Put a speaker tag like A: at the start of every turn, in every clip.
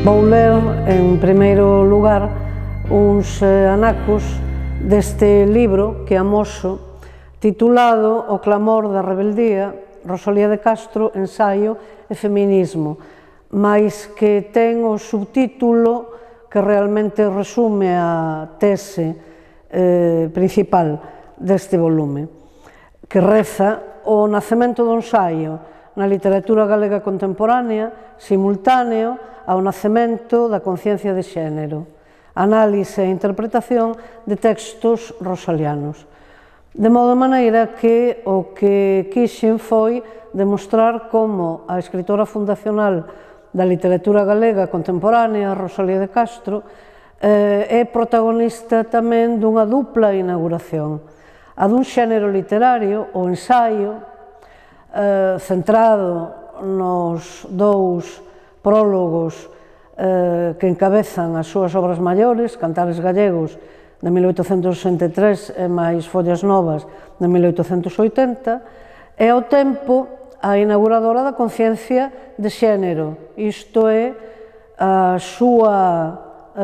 A: Vou ler, en primeiro lugar, uns anacos deste libro que amoso, titulado O clamor da rebeldía, Rosalía de Castro, ensaio e feminismo, mais que ten o subtítulo que realmente resume a tese principal deste volume, que reza: o nacemento do ensaio na literatura galega contemporánea, simultáneo ao nacemento da conciencia de xénero, análise e interpretación de textos rosalianos. De modo maneira que o que quixen foi demostrar como a escritora fundacional da literatura galega contemporánea, Rosalía de Castro, é protagonista tamén dunha dupla inauguración, a dun xénero literario, o ensaio, centrado nos dous prólogos que encabezan as súas obras maiores, Cantares Gallegos, de 1863, e máis Follas Novas, de 1880, e ao tempo a inauguradora da conciencia de xénero, isto é, a súa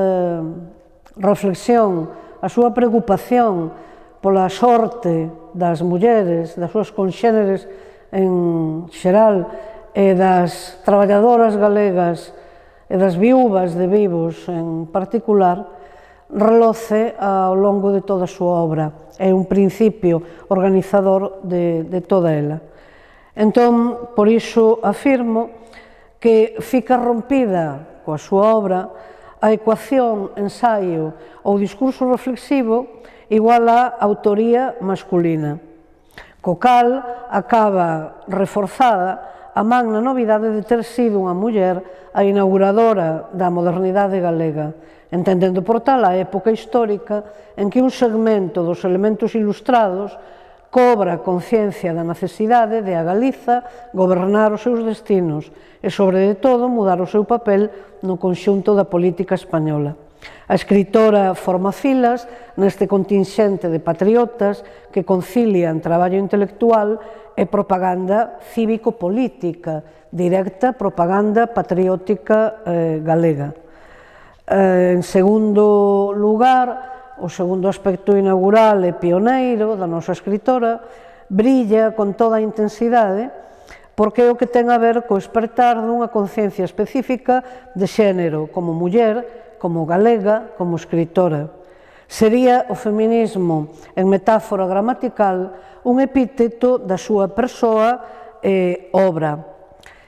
A: reflexión, a súa preocupación pola sorte das mulleres, das súas conxéneres en xeral, e das traballadoras galegas e das viúvas de vivos en particular, reloce ao longo de toda a súa obra. É un principio organizador de toda ela. Entón, por iso afirmo que fica rompida coa súa obra a ecuación ensaio ou discurso reflexivo igual a autoría masculina, co cal acaba reforzada a magna novidade de ter sido unha muller a inauguradora da modernidade galega, entendendo por tal a época histórica en que un segmento dos elementos ilustrados cobra conciencia da necesidade de a Galiza gobernar os seus destinos e, sobre todo, mudar o seu papel no conxunto da política española. A escritora forma filas neste contingente de patriotas que concilian traballo intelectual e propaganda cívico-política, directa propaganda patriótica galega. En segundo lugar, o segundo aspecto inaugural e pioneiro da nosa escritora brilla con toda a intensidade porque é o que ten a ver co espertar dunha conciencia específica de xénero como muller, como galega, como escritora. Sería o feminismo, en metáfora gramatical, un epíteto da súa persoa e obra.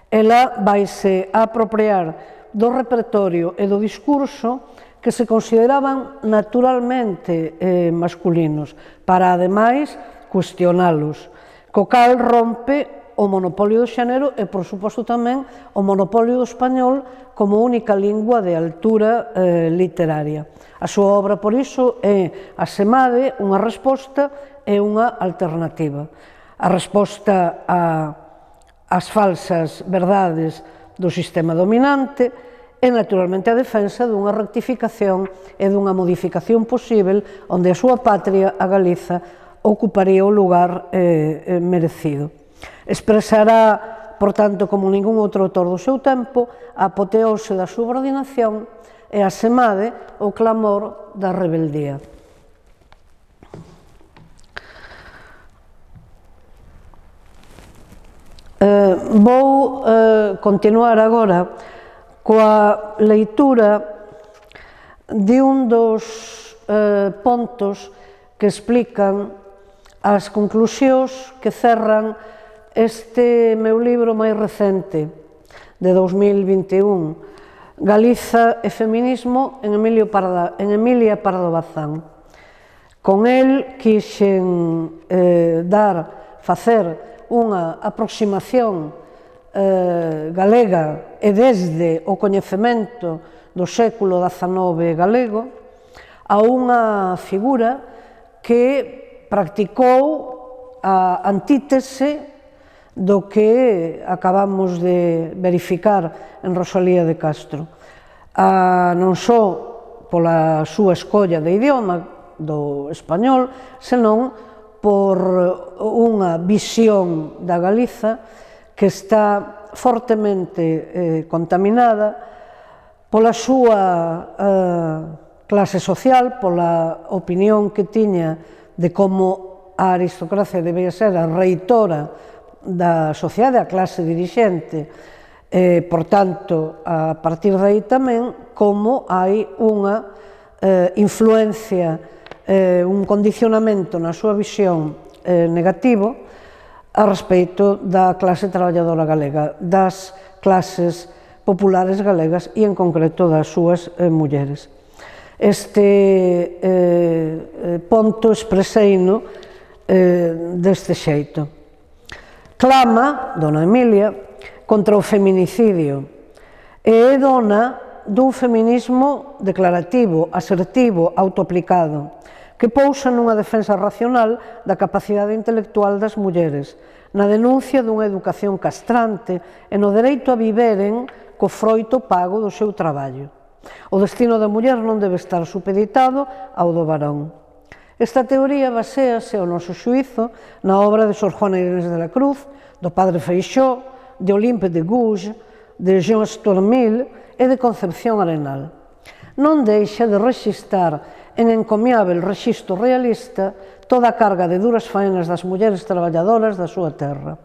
A: Ela vaise a apropiar do repertorio e do discurso que se consideraban naturalmente masculinos, para, ademais, cuestionalos, co cal rompe o monopolio do xénero e, por suposto, tamén o monopolio do español como única lingua de altura literaria. A súa obra, por iso, é, asemade, unha resposta e unha alternativa. A resposta ás falsas verdades do sistema dominante e, naturalmente, a defensa dunha rectificación e dunha modificación posível onde a súa patria, a Galiza, ocuparía o lugar merecido. Expresará, por tanto, como ningún outro autor do seu tempo, a apoteose da subordinación e, asemade, o clamor da rebeldía. Vou continuar agora coa leitura de un dos pontos que explican as conclusións que cerran este meu libro máis recente, de 2021, Galiza e feminismo en Emilia Pardo Bazán. Con el quixen facer unha aproximación galega e desde o coñecemento do século XIX galego a unha figura que practicou a antítese do que acabamos de verificar en Rosalía de Castro, non só pola súa escolla de idioma do español, senón por unha visión da Galiza que está fortemente contaminada pola súa clase social, pola opinión que tiña de como a aristocracia debía ser a reitora da sociedade, a clase dirixente, por tanto, a partir de aí tamén, como hai unha influencia, un condicionamento na súa visión negativo a respecto da clase traballadora galega, das clases populares galegas e, en concreto, das súas mulleres. Este ponto expreseino deste xeito. Clama, dona Emilia, contra o feminicidio e é dona dun feminismo declarativo, asertivo, autoaplicado, que pousa nunha defensa racional da capacidade intelectual das mulleres, na denuncia dunha educación castrante e no dereito a viveren co froito pago do seu traballo. O destino da muller non debe estar supeditado ao do varón. Esta teoría baséase, ao noso xuízo, na obra de Sor Juana Inés de la Cruz, do padre Feixóo, de Olympe de Gouges, de Jean Stormil e de Concepción Arenal. Non deixa de rexistar en encomiável rexistro realista toda a carga de duras faenas das mulleres traballadoras da súa terra.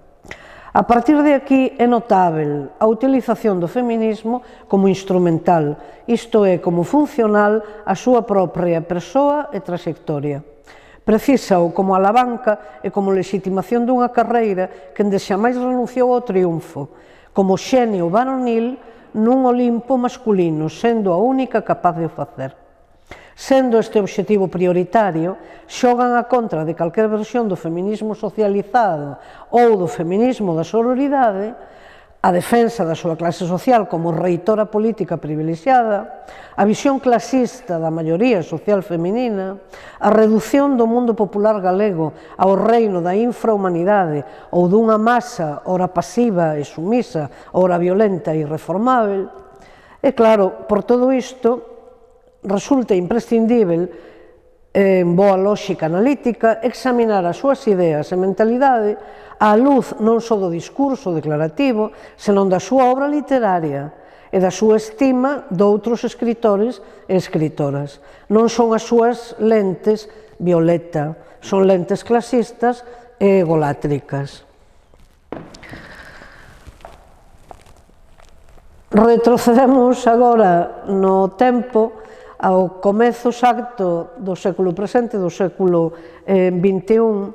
A: A partir de aquí é notável a utilización do feminismo como instrumental, isto é, como funcional á súa propia persoa e traxectoria. Precisa-o como alavanca e como legitimación dunha carreira que endexamais renunciou ao triunfo, como xenio varonil nun Olimpo masculino, sendo a única capaz de o facer. Sendo este obxectivo prioritario, xogan a contra de calquer versión do feminismo socializado ou do feminismo da sororidade, a defensa da súa clase social como reitora política privilexiada, a visión clasista da maioría social feminina, a redución do mundo popular galego ao reino da infrahumanidade ou dunha masa ora pasiva e sumisa, ora violenta e irreformável. E claro, por todo isto, resulta imprescindível, en boa lógica analítica, examinar as súas ideas e mentalidade á luz non só do discurso declarativo, senón da súa obra literaria e da súa estima doutros escritores e escritoras. Non son as súas lentes violeta, son lentes clasistas e egolátricas. Retrocedemos agora no tempo ao comezo exacto do século presente, do século XXI,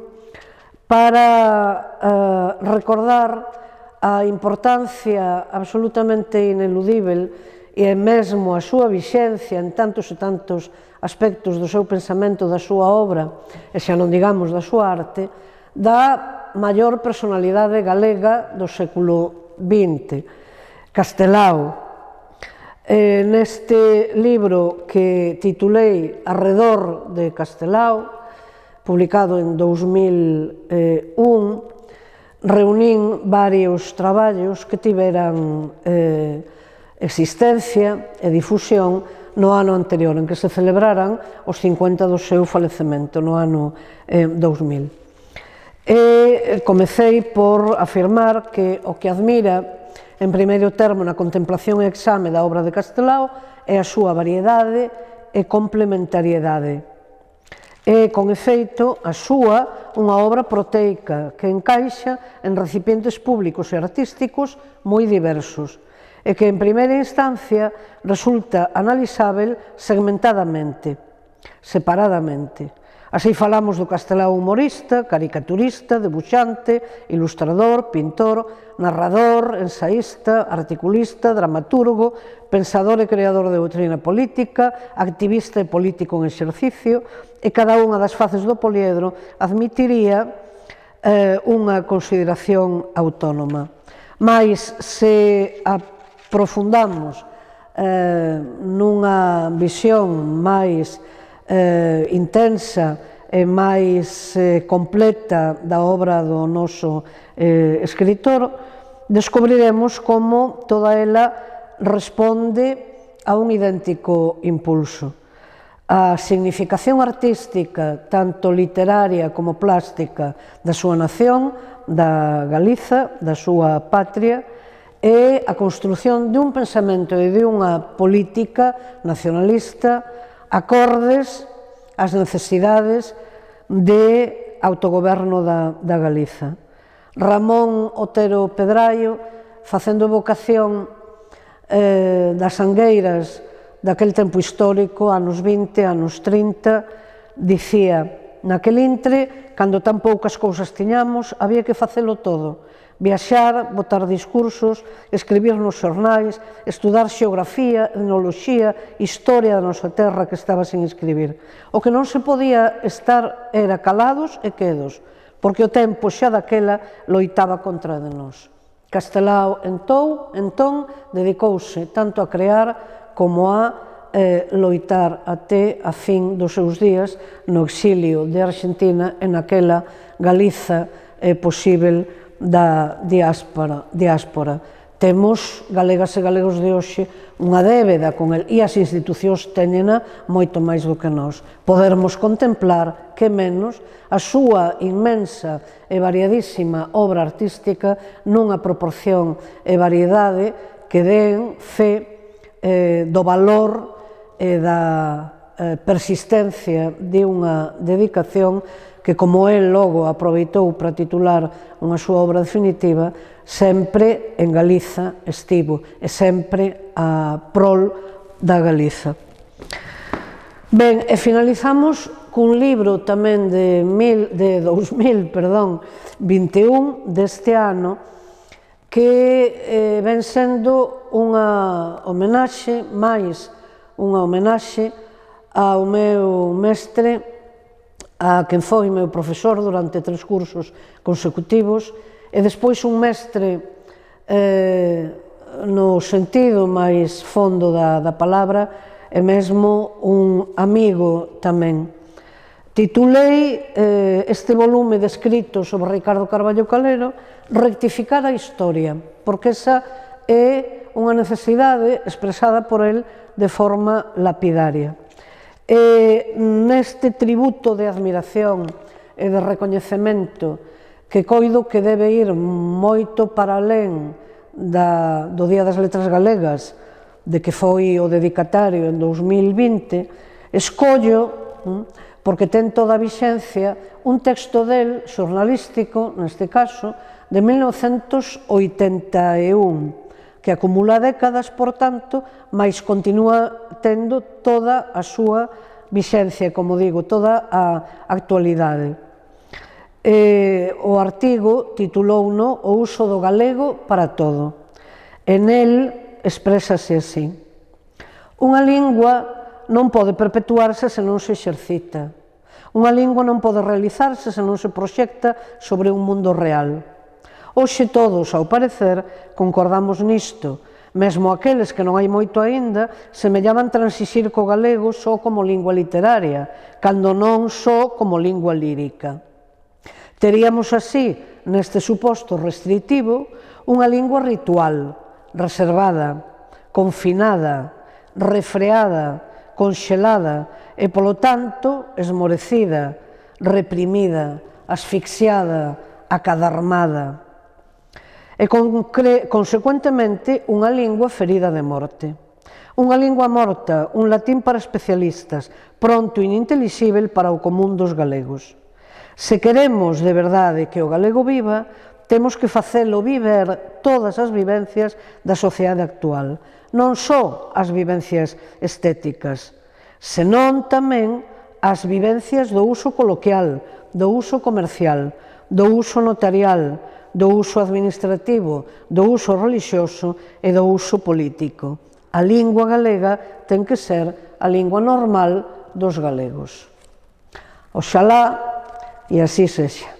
A: para recordar a importancia absolutamente ineludível e mesmo a súa vixencia en tantos e tantos aspectos do seu pensamento, da súa obra, e xa non digamos da súa arte, da maior personalidade galega do século XX, Castelao. Neste libro que titulei Arredor de Castelao, publicado en 2001, reunín varios traballos que tiveran existencia e difusión no ano anterior, en que se celebraran os 50 do seu falecemento, no ano 2000. E comecei por afirmar que o que admira en primeiro termo na contemplación e exame da obra de Castelao é a súa variedade e complementariedade. É, con efeito, a súa unha obra proteica que encaixa en recipientes públicos e artísticos moi diversos e que, en primeira instancia, resulta analisável segmentadamente, separadamente. Así falamos do Castelao humorista, caricaturista, debuxante, ilustrador, pintor, narrador, ensaísta, articulista, dramaturgo, pensador e creador de doutrina política, activista e político en exercicio, e cada unha das faces do poliedro admitiría unha consideración autónoma. Mais, se aprofundamos nunha visión máis intensa e máis completa da obra do noso escritor, descubriremos como toda ela responde a un idéntico impulso. A significación artística, tanto literaria como plástica, da súa nación, da Galiza, da súa patria, é a construción dun pensamento e de unha política nacionalista acordes ás necesidades de autogoberno da Galiza. Ramón Otero Pedraio, facendo evocación das sangueiras daquel tempo histórico, anos 20, anos 30, dicía: naquel intre, cando tan poucas cousas tiñamos, había que facelo todo. Viaxar, botar discursos, escribir nos xornais, estudar xeografía, etnoloxía, historia da nosa terra que estaba sin escribir. O que non se podía estar era calados e quedos, porque o tempo xa daquela loitaba contra de nós. Castelao, entón, dedicouse tanto a crear como a loitar até a fin dos seus días no exilio de Argentina e naquela Galiza posíbel da diáspora. Temos, galegas e galegos de hoxe, unha débeda con el, e as institucións teñena moito máis do que nós. Podermos contemplar, que menos, a súa inmensa e variadísima obra artística nunha proporción e variedade que den fe do valor e da persistencia de unha dedicación que, como el logo aproveitou para titular unha súa obra definitiva, sempre en Galiza estivo e sempre a prol da Galiza. Ben, e finalizamos cun libro tamén de 2021 deste ano, que ven sendo unha homenaxe, máis unha homenaxe ao meu mestre, a quen foi meu profesor durante 3 cursos consecutivos, e despois un mestre no sentido máis fondo da palabra, e mesmo un amigo tamén. Titulei este volume de escritos sobre Ricardo Carballo Calero Rectificar a historia, porque esa é unha necesidade expresada por el de forma lapidaria. E neste tributo de admiración e de recoñecemento que coido que debe ir moito para alén do Día das Letras Galegas, de que foi o dedicatario en 2020, escollo, porque ten toda a vixencia, un texto del, xornalístico, neste caso, de 1981, que acumula décadas, por tanto, mas continúa tendo toda a súa vixencia, como digo, toda a actualidade. O artigo titulouno O uso do galego para todo. En el exprésase así: unha lingua non pode perpetuarse se non se exercita. Unha lingua non pode realizarse se non se proxecta sobre un mundo real. Hoxe todos, ao parecer, concordamos nisto, mesmo aqueles que non hai moito aínda semellaban transixir co galego só como lingua literaria, cando non só como lingua lírica. Teríamos así, neste suposto restritivo, unha lingua ritual, reservada, confinada, refreada, conxelada e, polo tanto, esmorecida, reprimida, asfixiada, acadarmada. E, consecuentemente, unha lingua ferida de morte. Unha lingua morta, un latín para especialistas, pronto inintelixíbel para o común dos galegos. Se queremos de verdade que o galego viva, temos que facelo viver todas as vivencias da sociedade actual, non só as vivencias estéticas, senón tamén as vivencias do uso coloquial, do uso comercial, do uso notarial, do uso administrativo, do uso relixioso e do uso político. A lingua galega ten que ser a lingua normal dos galegos. Oxalá e así sexa.